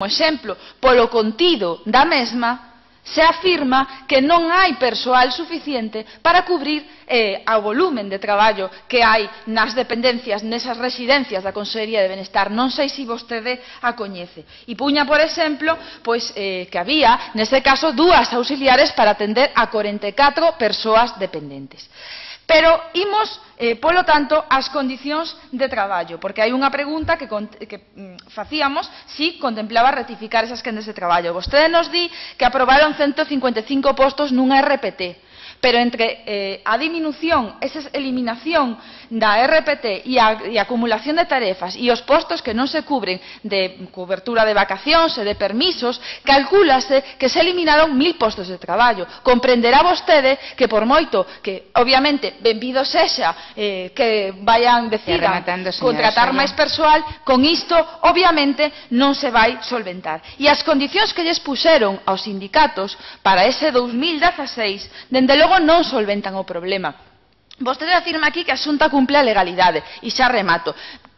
Como exemplo, polo contido da mesma, se afirma que non hai persoal suficiente para cubrir o volumen de traballo que hai nas dependencias, nesas residencias da Consellería de Benestar. Non sei se vostede a coñece. E puña, por exemplo, que había, neste caso, 2 auxiliares para atender a 44 persoas dependentes. Pero imos, polo tanto, ás condicións de traballo, porque hai unha pregunta que facíamos si contemplaba ratificar esas quendas de traballo. Vostede nos di que aprobaron 155 postos nunha RPT, pero entre a diminución, esa eliminación da RPT e a acumulación de tarefas e os postos que non se cubren de cobertura de vacacións e de permisos, calcúlase que se eliminaron 1000 postos de traballo. Comprenderá vostede que por moito que, obviamente, benvido sexa que decidan contratar máis persoal, con isto, obviamente, non se vai solventar. E as condicións que lles puxeron aos sindicatos para ese 2016, dende logo non solventan o problema. Vostede afirma aquí que a Xunta cumple a legalidade, e xa remato.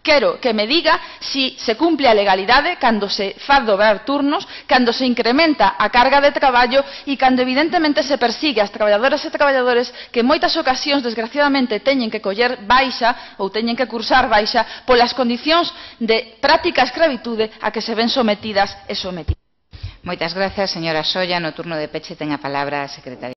Quero que me diga si se cumple a legalidade cando se fa dobrar turnos, cando se incrementa a carga de traballo e cando evidentemente se persigue as traballadoras e traballadores que en moitas ocasións, desgraciadamente, teñen que coller baixa ou teñen que cursar baixa polas condicións de práctica escravitude a que se ven sometidas e sometidos. Moitas grazas, señora Solla. No turno de peche ten a palabra a secretaria.